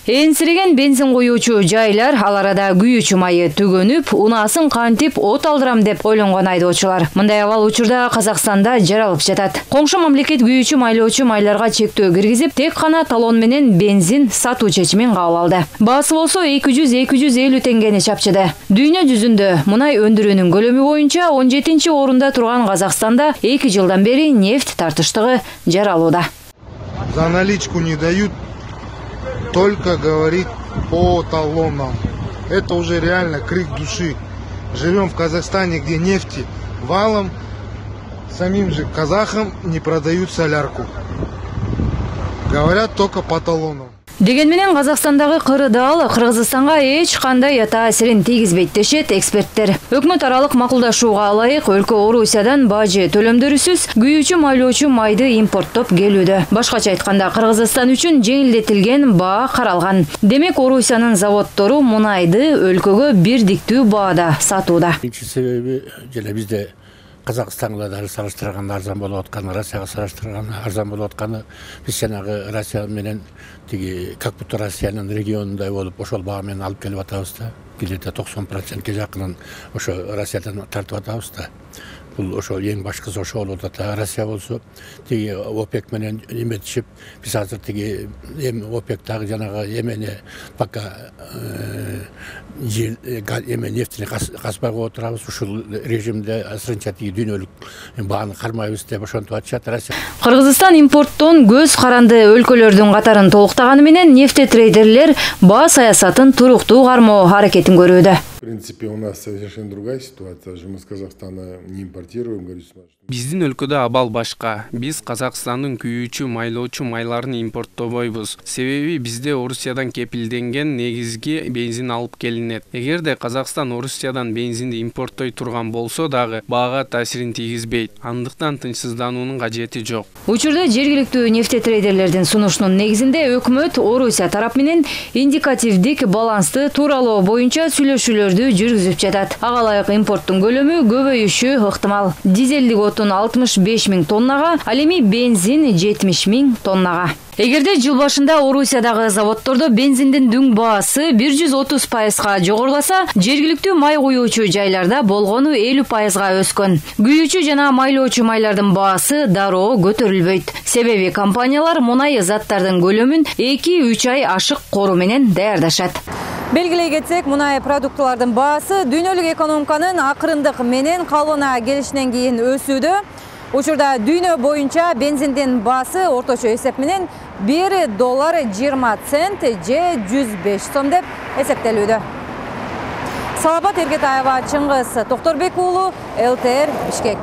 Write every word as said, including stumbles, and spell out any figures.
Энсиреген бензин коюучу жайлар ал арада күйүүчү майы төгөнүп, унаасын кантип от алдырам деп ойлонгон айдоочулар. Мындай абал учурда Казакстанда жаралып жатат. Коңшу мамлекет күйүүчү майлоочу майларга чектөө киргизип, тек гана талон менен бензин сатуу чечимин кабыл алды. Баасы болсо эки жүз — эки жүз элүү теңгени чапчыды. Дүйнө жүзүндө мунай өндүрүүнүн көлөмү боюнча он жетинчи орунда турган Казакстанда эки жылдан бери нефть тартыштыгы жаралууда. За наличку не дают, только говорит по талонам. Это уже реально крик души. Живем в Казахстане, где нефти валом, самим же казахам не продают солярку. Говорят только по талонам. Деген менен Казакстандагы кырдаал Кыргызстанга эч кандай таасирин тийгизбейт дешет эксперттер. Өкмөт аралык макулдашууга ылайык өлкө Орусиядан бажы төлөмдөрүсүз күйүүчү майлоочу майды импорттоп келүүдө. Башкача айтканда Кыргызстан үчүн жеңилдетилген баа каралган. Демек Орусиянын заводдору мунайды өлкөгө бирдиктүү баада сатууда. Биринчи себеби жана бизде Казакстанга дагы салыштырганда арзан болуп атканы, Россияга салыштырганда арзан болуп атканы, биз жанагы Россия менен тиги как будто Россиянын регионундай болуп ошол баа менен алып келип атабыз да. Где-то токсон процентке жакынын ошо Россиядан тартып атабыз да. Бул ошо эң башкысы ошо болуп атат. Россия болсо тиги ОПЕК менен эметишип, биз азыр тиги эми ОПЕКтагы жанагы эмени пока жер эме нефтини каспай коюп отурабыз. Ушул режимде азырынча тиги дүйнөлүк бааны кармайбыз деп ошентип атышат Россия. Кыргызстан импорттон көз каранды өлкөлөрдүн катарын толуктаганы менен нефтетрейдерлер баа саясатын туруктуу кармоо аракетин көрүүдө. В принципе, у нас совершенно другая ситуация. Мы с Казахстана не импортируем. Биздин өлкөдө абал башка. Биз Казакстандын күйүүчү майлоочу майларын импорттобойбуз. Себеби бизде Орусиядан кепилденген негизги бензин алып келинет. Эгерде Казакстан Орусиядан бензинди импорттой турган болсо дагы баага таасирин тийгизбейт. Андыктан тынчсыздануунун кажети жок. Учурда жергиликтүү нефтетрейдерлердин сунушунун негизинде өкмөт Орусия тарап менен индикативдик балансты тууралоо боюнча сүйлөшүүлөрдү жүргүзүп жатат. Ага ылайык импорттун көлөмү көбөйүшү ыктымал. Дизелдик отун алтымыш беш миң тоннага, ал эми бензин жетимиш миң тоннага. Эгерде жыл башында Орусиядагы заводдордо бензиндин дүң баасы бир жүз отуз пайызга жогоруласа, жергиликтүү май куюучу жайларда болгону элүү пайызга өскөн. Күйүүчү жана майлоочу майлардын баасы дароо көтөрүлбөйт. Себеби компаниялар мунай заттардын көлөмүн эки үч ай ашык кору менен даярдашат. Белгилей кетсек, мунай продуктылардын баасы дүйнөлүк экономиканын акырындык менен калыбына келишинен кийин өсүүдө. Учурда дүйнө боюнча бензиндин баасы орточо эсеп менен бир доллар жыйырма цент же жүз беш сом деп эсептелүүдө. Салапат Эргетаева, Чыңгыз Токторбек уулу, эл тэ эр Бишкек.